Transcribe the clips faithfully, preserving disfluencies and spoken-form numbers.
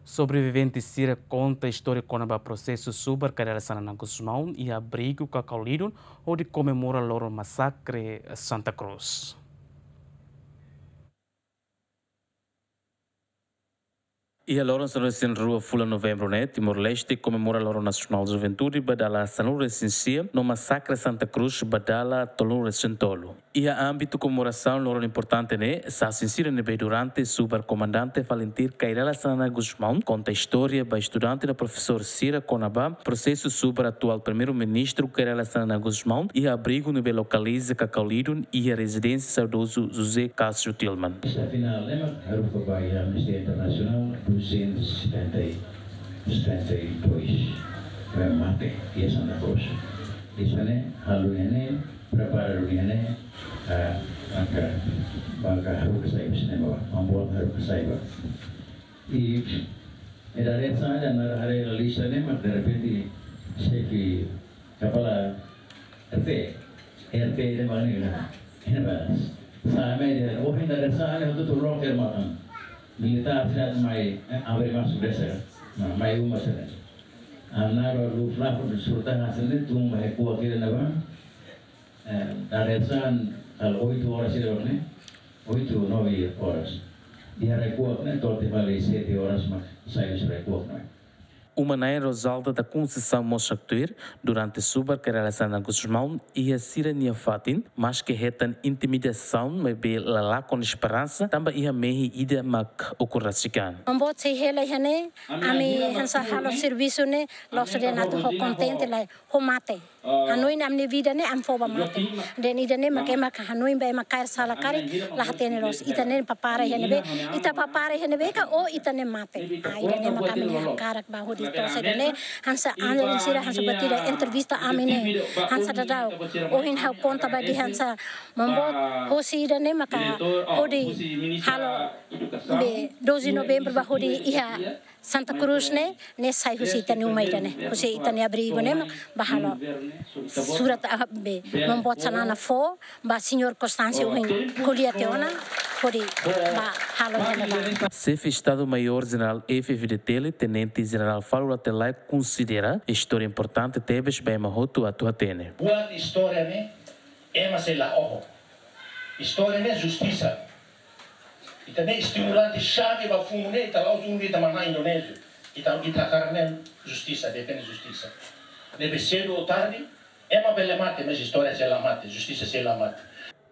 Sobrevivente sira konta istória kona-ba prosesu subar Kay Rala Xanana Gusmão iha abrigu Cacau Lidon, hodi komemora loron masakre Santa Cruz. Iha loron sanulu-resin-rua fulan Novembru ne'e, Timor-Leste komemora Loron Nasionál Juventude ba dala sanulu-resin-sia, no masakre Santa Cruz ba dala tolunulu-resin-tolu. Iha ámbitu komemorasaun loron importante ne'e, sasin sira ne'ebé durante subar komandante Falintil Kay Rala Xanana Gusmão konta istória ba estudante no profesór sira kona-ba prosesu subar atuál Primeiru-Ministru Kay Rala Xanana Gusmão iha abrigu ne'ebé lokaliza Cacau Lidon iha rezidénsia saudozu José Cássio Tilman. Esta final ne'e mak haruka ba iha Amnistia Internasionál duzentos e setenta e dois, ne'ebé mate iha Santa Cruz. Ida-ne'e halo ne'e, prepara duni ne'e, ah, maka, maka haruka sai husi ne'ebá, mamboan haruka sai ba. I, e dadeer-saan ida-ne'e haree iha lista ne'e, mak derrepente xefe kapala R T, R T ne'e mak ne'e, ne'e balas. Sa'e mai dehan, oh, iha dadeer-saan ne'e, hotu-hotu loke matan. Militár sira mai, eh, abre masuk desa. Nah, mai uma sira. Ha'u naruk Luftwaffe, surta hasil ne'e, tun ba recuo kira na ba. Eh, dadeer-saan, halo oito horas ida ne'e, oito, nove horas. Iha recuo ne'e, to'o tiha fali sete horas mak sai husi recuo ne'e. Uma-na'in Rosalda da Conceição mós haktuir, durante subar Kay Rala Xanana Gusmão iha sira-nia fatin, maske hetan intimidasaun, maibé la lakon esperansa, tanba iha mehi ida mak ukun rasik an. Mamboot sei hela iha ne'e, ami hanesan halo servisu ne'e, la'ós dehan atu ho kontente lai, ho mate. Hanoin ami-nia vida ne'e ami fó ba mate. Dehan ida-ne'e mak ema hanoin ba ema kaer sala karik, la hatene loos. Ita ne'e prepara iha ne'ebé, ita prepara iha ne'ebé ka, oh, ita ne'e mate. Ah, ida-ne'e mak ami hakarak ba hodi to'o saida ne'e, hanesan anda sira hanesan buat ida entrevista ami ne'e, hanesan daudaun. Ohin ha'u konta ba dehan hanesan mamboot, hosi ida-ne'e maka hodi halo be doze Novembru ba hodi iha Santa Cruz ne'e, ne'e sai husi ita-nia uma ida-ne'e, husi ita-nia abrigu ne'e, mak ba halo surat, ah, be, mamboot Xanana fó ba Señór Constâncio ohin ko'alia tiha ona, hodi ba halo iha ne'ebá. Xefe Estadu-Maiór Jenerál F-FDTL, Tenente Jenerál Falur Rate Laek konsidera istória importante tebes ba ema hotu atu hatene. Buat istória ne'e, ema sei la oho. Istória ne'e justisa. Ita-nia estimulante xave ba funu ne'e, ita la'ós unda ita manán Indonézia. Ita, ita hakarak ne'e justisa, defende justisa. Ne'ebé sedu ou tarde, ema bele mate, mas istória sei la mate, justisa sei la mate.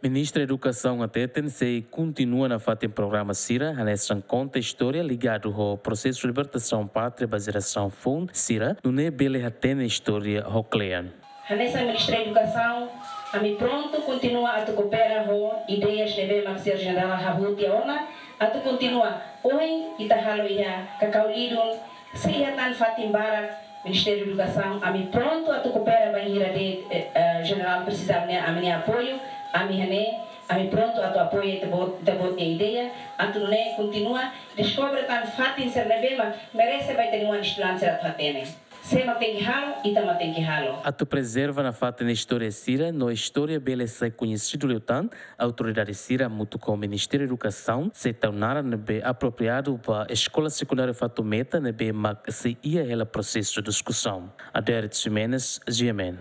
Ministra Edukasaun hateten sei kontinua nafatin programa sira, hanesan konta istória ligadu ho prosesu libertasaun pátria ba jerasaun foun sira, nune'e bele hatene istória ho kle'an. Hanesan Ministra Edukasaun, ami prontu kontinua atu koopera ho ideias ne'ebé mak Señór Jenerál hahú tiha ona, atu kontinua. Ohin ita halo iha Cacau Lidon, se iha tan fatin barak Ministériu Edukasaun, ami prontu atu koopera bainhira de'it, eh, eh, Jenerál presiza ami-nia, ami-nia apoiu, ami iha ne'e, ami prontu atu apoia ita-boot, ita-boot nia ideia, atu nune'e kontinua deskobre tan fatin sira ne'ebé mak merese ba ita-nia oan estudante sira atu hatene. Sé mak tenke halo, ita mak tenke halo. Atu prezerva nafatin istória sira, no istória bele sai koñesidu liután, autoridade sira hamutuk ho Ministériu Edukasaun sei tau naran ne'ebé apropriadu ba Eskola Sekundária Fatumeta ne'ebé mak sei iha hela prosesu diskusaun. Adérito Ximenes, G M N.